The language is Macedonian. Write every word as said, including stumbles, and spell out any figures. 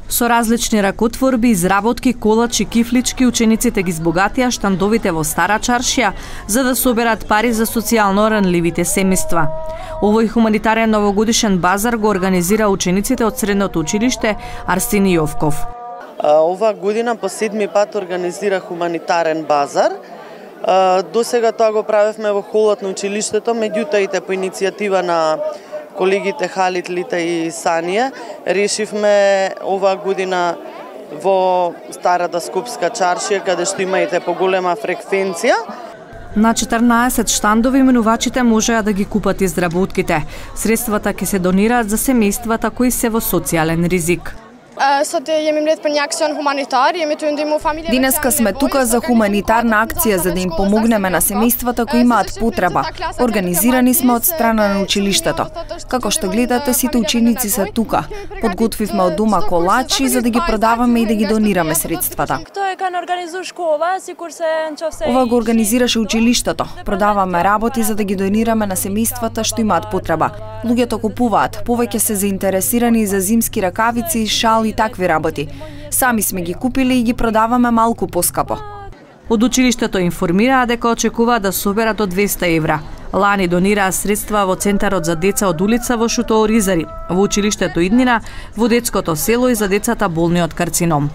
Со различни ракотворби, изработки, колачи, кифлички, учениците ги збогатија штандовите во Стара Чаршија за да соберат пари за социјално ранливите семејства. Овој хуманитарен новогодишен базар го организира учениците од средното училиште Арсени Јовков. Ова година по седми пат организира хуманитарен базар. До сега тоа го правевме во холот на училиштето, меѓутоа и по иницијатива на колегите Халид, Лита и Санија, решивме оваа година во Старата Скопска чаршија, каде што има и поголема фреквенција. На четрнаесет штандови минувачите можеа да ги купат изработките. Средствата ќе се донираат за семејствата кои се во социјален ризик. Денеска сме тука за хуманитарна акција за да им помогнеме на семејствата кои имаат потреба. Организирани сме од страна на училиштето. Како што гледате, сите ученици се тука. Подготвивме од дома колачи за да ги продаваме и да ги донираме средствата. Ова го организираше училиштето. Продаваме работи за да ги донираме на семејствата што имаат потреба. Луѓето купуваат, повеќе се заинтересирани за зимски ракавици, шал и такви работи. Сами сме ги купили и ги продаваме малку поскапо. Од училиштето информираа дека очекуваат да соберат до двесте евра. Лани донираа средства во Центарот за деца од улица во Шутооризари, во училиштето Иднина, во детското село и за децата болни од карцином.